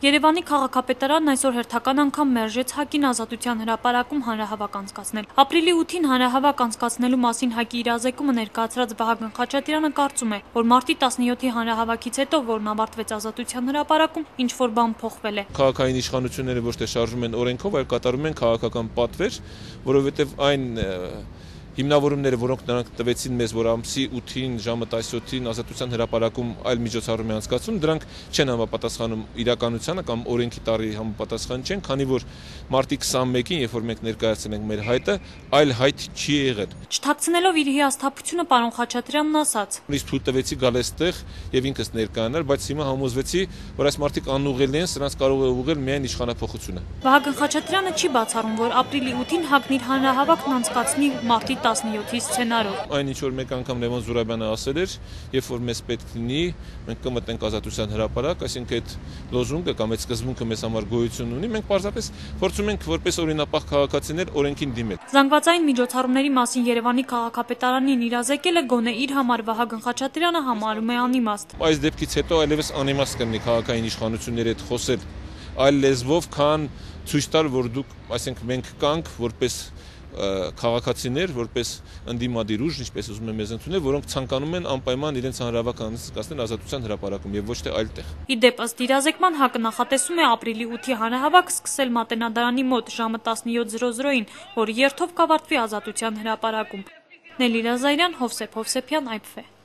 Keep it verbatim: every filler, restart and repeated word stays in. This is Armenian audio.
Երևանի քաղաքապետարանն այսօր հերթական անգամ մերժեց ՀԱԿ-ին ազատության հրապարակում հանրահավաք անցկացնել։ Ապրիլի ութին հանրահավաք անցկացնելու մասին ՀԱԿ-ի իրազեկումը ներկայացրած Վահագն Խաչատրյանը կարծում է, որ մարտի տասնյոթի հանրահավաքից հետո, որն ավարտվեց ազատության հրապարակում, ինչ-որ բան փոխվել է։ Քաղաքային իշխանությունները ոչ թե շարժում են օրենքով, այլ կատարում են քաղաքական պատվեր, որովհետև այն հիմնավորումները, որոնք նրանք տվեցին մեզ, որ ամսի ութին ժամը տասնյոթին ազատության հրապարակում այլ միջոցառում է անցկացվում, դրանք չեն համապատասխանում իրականությանը կամ օրենքի տարի համապատասխան չեն, քանի որ մարտի քսանմեկին, երբ որ մենք ներկայացրել ենք մեր հայտը, այլ հայտ չի եղել։ Չթաքցնելով իր հիասթափությունը, պարոն Խաչատրյանն ասաց. Իսկ թույլ տվեցի գալ այստեղ եւ ինքս ներկայանալ, բայց հիմա համոզվեցի, որ այս մարդիկ անուղղելի են, սրանց կարող է ուղղել միայն իշխանափոխությունը։ Վահագն Խաչատրյանը չի բացառում, որ ապրիլի ութին ՀԱԿ-ն իր հանրահավաքն անցկացնի մարտի տասնյոթի սցենարով։ Այն ինչ որ մեկ անգամ Լևոն Զուրաբյանը ասել էր, երբ որ մեզ պետք լինի, մենք կմտնենք ազատության հրապարակ, այսինքն այդ լոզունգը կամ այդ սկզբունքը մեզ համար գոյություն ունի, մենք պարզապես փորձում ենք որպես օրինապահ քաղաքացիներ օրենքին դիմել։ Զանգվածային միջոցառումների մասին Երևանի քաղաքապետարանին իրազեկելը գոնե իր համար Վահագն Խաչատրյանը համարում է անիմաստ։ Այս դեպքից հետո այլևս անիմաստ կլինի քաղաքային իշխանությունների հետ խոսել այլ լեզվով, քան ցույց տալ, որ դուք, այսինքն մենք կանք որպես քաղաքացիներ, որպես ընդդիմադիր ուժ, ինչպես ուզում են մեզ ընդունել, որոնք ցանկանում են անպայման իրենց հանրահավաք անցկացնել ազատության հրապարակում եւ ոչ թե այլտեղ։ Ի դեպ, ըստ իրազեկման ՀԱԿ-ը նախատեսում է ապրիլի ութի հանրահավաք սկսել Մատենադարանի մոտ ժամը տասնյոթին, որը երթով կավարտվի ազատության հրապարակում։ Նելի Ռազարյան, Հովսեփ Հովսեփյան, Այ Փ Ֆ։